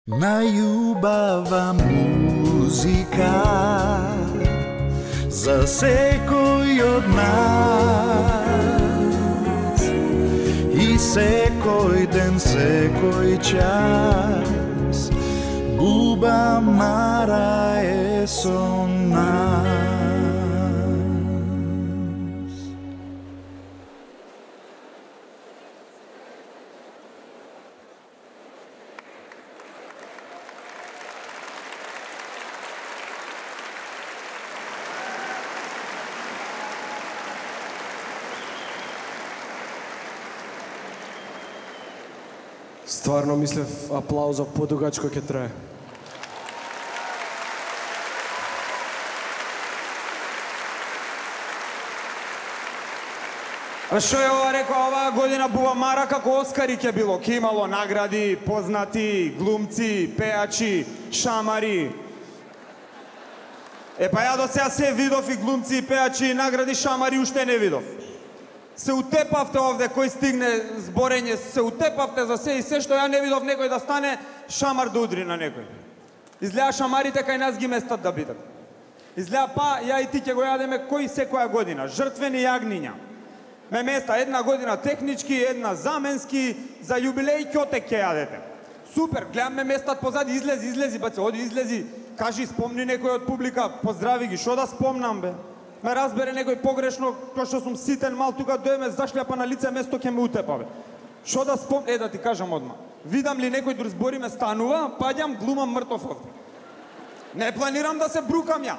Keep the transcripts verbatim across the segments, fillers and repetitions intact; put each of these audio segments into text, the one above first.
Најубава музика за секој од нас и секој ден, секој час Буба Мара е со нас. Стварно мислев аплаузов подугачко ќе трае. А што е ова рекao, оваа година Буба Мара како Оскари ќе било, ќе имало награди, познати глумци, пеачи, шамари. Е па ја до сега се видов и глумци, и пеачи, и награди, шамари уште не видов. Се утепавте овде, кој стигне зборење, се утепавте за се и се што ја не видов некој да стане шамар да удри на некој. Изгледа шамарите кај нас ги местат да бидат. Изгледа па ја и ти ќе го јадеме кој секоја година, жртвени јагниња. Ме места една година технички, една заменски, за јубилеј ќотек ќе јадете. Супер, гледам ме местат позади, излези, излези, баце, оди, излези, кажи, спомни некој од публика, поздрави ги, шо да спомнам, бе? Ме разбере некој погрешно, кој што сум ситен мал, тука дојме зашљапа на лице место ќе ме утепа, бе. Шо да спом... Е, да ти кажам одма. Видам ли некој друг збори ме станува, паѓам, глумам мртов овде. Не планирам да се брукам ја.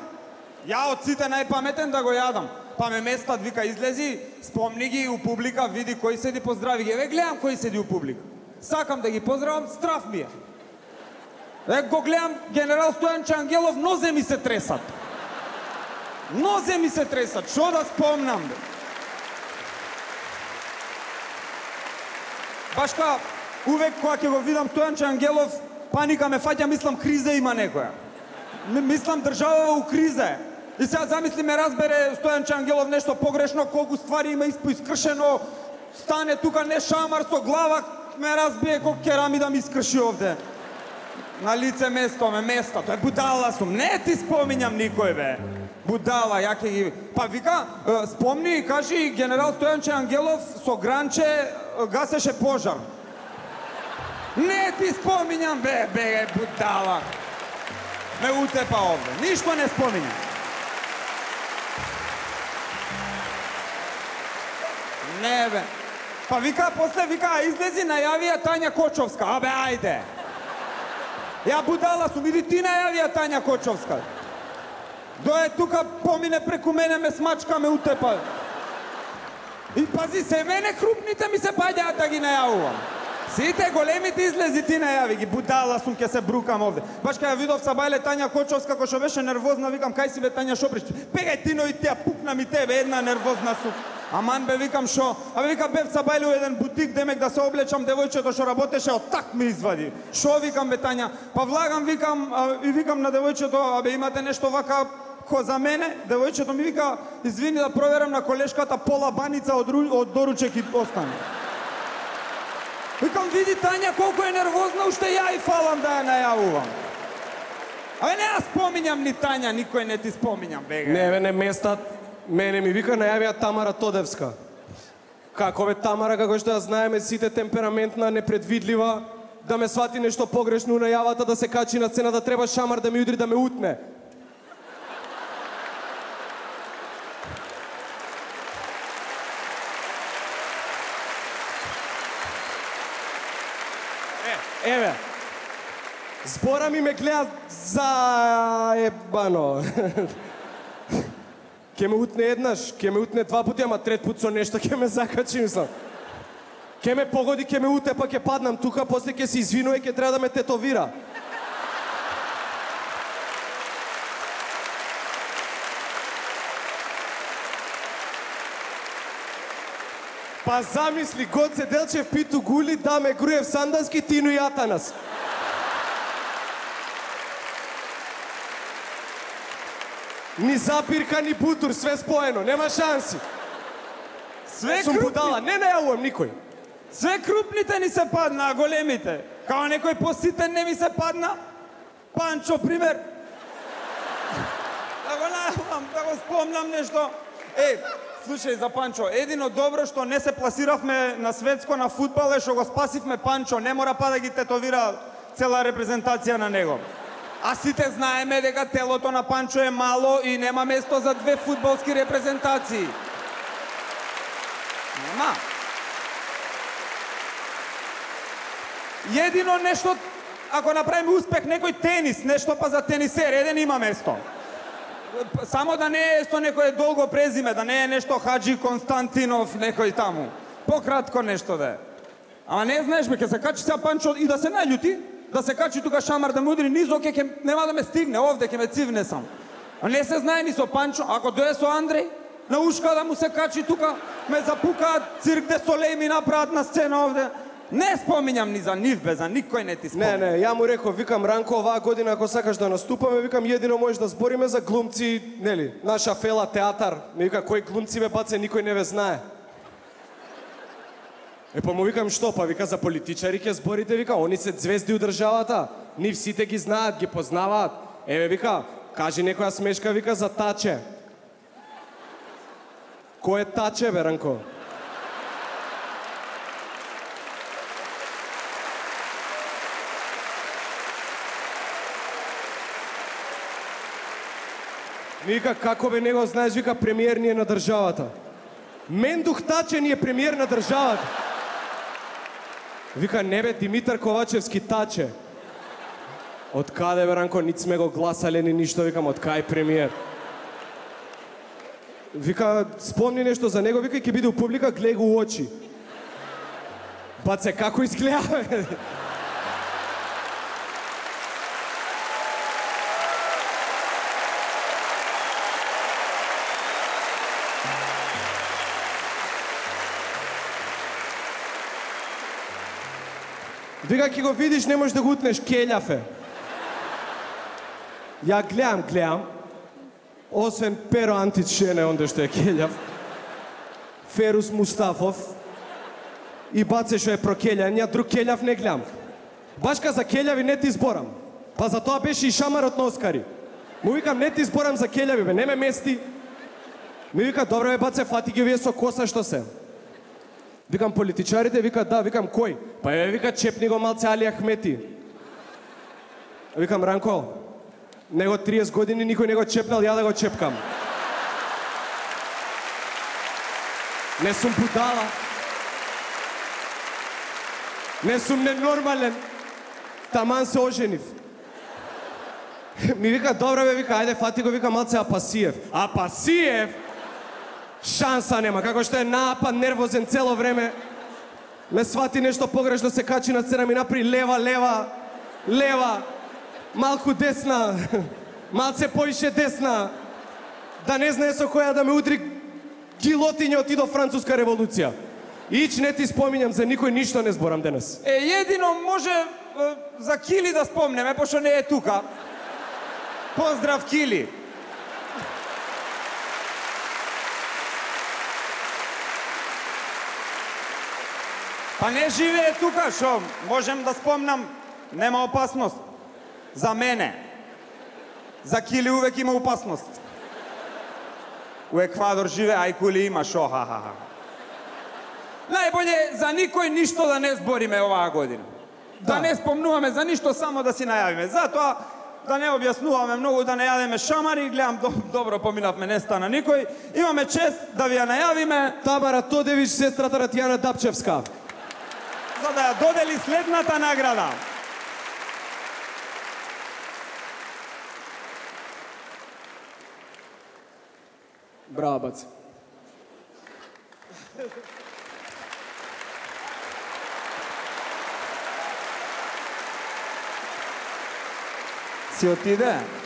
Ја од сите најпаметен да го јадам. Па ме местат, вика, излези, спомни ги у публика, види кој седи, поздрави ги. Еве, гледам кој седи у публика. Сакам да ги поздравам, страф ми е. Е, го гледам, генерал Стојанче Ангелов, нозе ми се тресат. Нозе ми се тресат, шо да спомнам, бе? Баш ка, увек кога ќе го видам Стојанче Ангелов, паника ме фаќа, мислам, криза има некоја. Мислам, држава у криза е. И сега замисли ме разбере Стојанче Ангелов нешто погрешно, колку ствари има искршено, стане тука не шамар со глава, ме разбие колку керамида ми искрши овде. На лице место, ме место, тој будала сум, не ти споминјам никој, бе. Будала, ја ќе ги... Па вика, спомни и кажи, генерал Стојанче Ангелов со гранче гасеше пожар. Не ти споминјам, бе, бе, будала. Ме утепа овде, ништо не споминјам. Не, бе. Па вика, после вика, излези, најавија Тања Кочовска. Абе, ајде. Ја будала сум, иди ти најавија Тања Кочовска. Дое тука, помине преку мене, ме смачка, ме утепа. И пази, се мене крупните ми се паѓаат да ги најавувам. Сите големите излези ти најави ги, будала сум, ке се брукам овде. Баш кај ја видов Сабајле Тања Кочовска, кој што беше нервозна, викам, кај си бе Тања Шоприч? Пегај ти, но и тя, пукна ми тебе, една нервозна сум. Аман бе, викам, шо? Абе, викам, бев Сабајле у еден бутик, демек да се облечам, девојчето што работеше, од так ми извади. Шо, викам, бе, Тања? Па влагам, викам, и викам на девојчето, абе, имате нешто вака ко за мене? Девојчето ми вика, извини да проверам на колешката пола баница од, од доручек и остане. Викам, види Тања колку е нервозна, уште ја и фалам да ја најавувам. Абе, не ја споминјам ни Тања, никој не ти споминјам, бега. Не, бе, не местат. Мене ми вика најавија Тамара Тодевска. Како бе Тамара, како што ја знаеме сите, темпераментна, непредвидлива, да ме свати нешто погрешно на јавата, да се качи на сцена, да треба шамар да ми удри, да ме утне. Е, еве, збора ми ме гледа за ебано. Ке ме утне еднаш, ке ме утне два пути, ама трет пут со нешто ке ме закачи, мислам. Ке ме погоди, ке ме уте, па ке паднам тука, после ке се извинува и ке треба да ме тетовира. Па замисли, Гоце Делчев, Питу Гули, Даме Груев Сандански, Тино и Атанас. Ни запирка, ни бутур, све споено, нема шанси. Све Сум крупни... будала, не најавувам никој. Све крупните ни се падна, а големите. Као некој поситен не ми се падна. Панчо, пример. Да го најавам, да го спомнам нешто. Е, слушај за Панчо, едино добро што не се пласиравме на светско на фудбал е што го спасивме Панчо, не мора па да ги тетовира цела репрезентација на него. А сите знаеме дека телото на Панчо е мало и нема место за две фудбалски репрезентации. Нема. Едино нешто, ако направиме успех некој тенис, нешто па за тенисер, еден има место. Само да не е со некој долго презиме, да не е нешто Хаджи Константинов, некој таму. Пократко нешто да е. Ама не знаеш ме, ке се качи сега Панчо и да се наљути, да се качи тука Шамар да му удри низ, оке, ке, нема да ме стигне, овде ке ме цивне сам. А не се знае ни со Панчо, ако дое со Андреј, на ушка да му се качи тука, ме запукаат, Цирк де Солеј ми направат на сцена овде. Не споминјам ни за нив, бе, за никој не ти споминам. Не, не, ја му реков, викам, Ранко, оваа година ако сакаш да наступаме, викам, едино можеш да збориме за глумци, нели, наша фела театар. Ми вика, кои глумци, бе, баце, никој не ве знае. Е, па му викам, што, па вика, за политичари ќе зборите, вика, они се звезди у државата, нив сите ги знаат, ги познаваат. Еве, вика, кажи некоја смешка, вика, за Таче. Кој е Таче, бе, Ранко? Ми вика, како бе, него знаеш, вика, премиер ни е на државата. Мендух Таче ни е премиер на државата. Вика, не бе, Димитар Ковачевски Таче. Од каде, бе, Ранко, нит сме го гласале ни ништо, викам, од кај премиер. Вика, спомни нешто за него, вика, ќе биде у публика, гледа го у очи. Баце, како изгледа, бе? Вика, ќе го видиш, не можеш да го утнеш, келјав е. Ја гледам, гледам, освен Перо Антич Шене, онде што е келјав, Ферус Мустафов и Баце што е прокелјан, ја друг келјав не гледам. Башка за келјави не ти зборам, па за тоа беше и шамарот на Оскари. Му викам, не ти зборам за келјави, бе, не ме мести. Ми вика, добре, бе, Баце, фати ги овие со коса што се. Викам, политичарите, вика, да, викам, кој? Па е, вика, чепни го малце Али Ахмети. Викам, Ранко, него триесет години никој не го чепнал, ја да го чепкам. Не сум будала. Не сум ненормален. Таман се оженив. Ми вика, добре бе, вика, ајде, фати го, вика, малце Апасиев. Апасиев? Шанса нема, како што е напад, нервозен цело време. Ме свати нешто погрешно, се качи на сцена, ми напри лева, лева, лева, малку десна, малце поише десна, да не знае со која да ме удри гилотиња и до Француска револуција. Ич не ти споминјам, за никој ништо не зборам денес. Е, едино може е, за Кили да спомнеме, пошто не е тука. Поздрав, Кили. Па не живее тука, шо можем да спомнам, нема опасност. За мене. За Кили увек има опасност. У Еквадор живее, ај Кули има, шо, ха-ха-ха. Најболje за никој ништо да не збориме оваа година. Да, да не спомнуваме за ништо, само да си најавиме. Затоа да не објаснуваме многу, да не јадеме шамари, гледам добро поминавме, не стана никој. Имаме чест да ви ја најавиме Тамара Тодевич, сестрата на Тијана Дапчевска, за да ја додели следната награда. Браво, Баце. Си отиде?